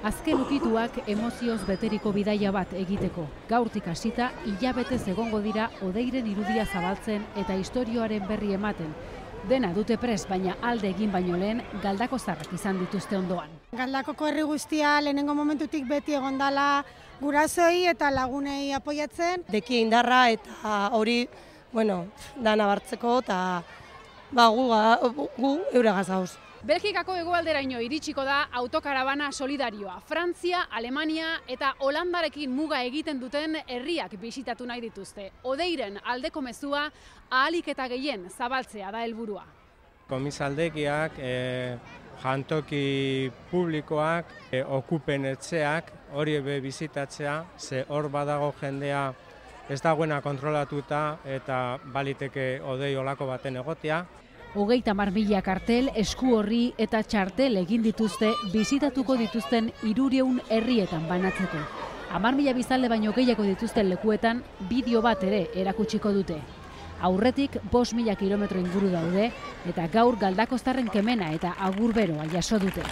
Azken ukituak emozioz beteriko bidaia bat egiteko. Gaurtik hasita hilabetez egongo dira Odeiren irudia zabaltzen eta istorioaren berri ematen. Dena dute prest, baina alde egin baino lehen galdakoztarrak izan dituzte ondoan. Galdakoko herri guztia lehenengo momentutik beti egon dela gurasoei eta lagunei apoiatzen. Deki indarra eta hori, dana bartzeko eta gu euregaz gauz. Belgikako hegoalderaino iritsiko da autokarabana solidarioa. Frantzia, Alemania eta Holandarekin muga egiten duten herriak bisitatu nahi dituzte. Odeiren aldeko mezua ahalik eta gehien zabaltzea da helburua. Komisaldegiak, jantoki publikoak, okupen etxeak, hori bizitatzea, ze hor badago jendea ez dagoena kontrolatuta eta baliteke Odei olako baten egotea. 30.000 kartel, esku horri eta txartel egin dituzte bisitatuko dituzten 300 herrietan banatzeko. 10.000 biztanle baino gehiago dituzten lekuetan bideo bat ere erakutsiko dute. Aurretik 5.000 kilometro inguru daude eta gaur galdakoztarren kemena eta agur beroa jaso dute.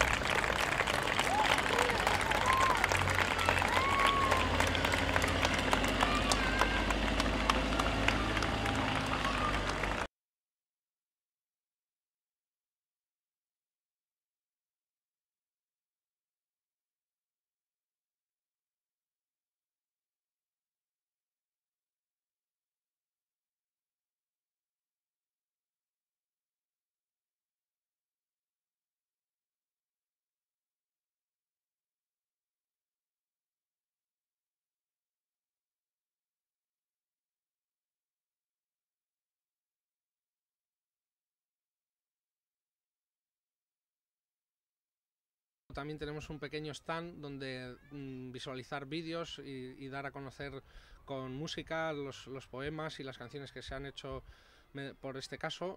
También tenemos un pequeño stand donde visualizar vídeos y dar a conocer con música los poemas y las canciones que se han hecho por este caso.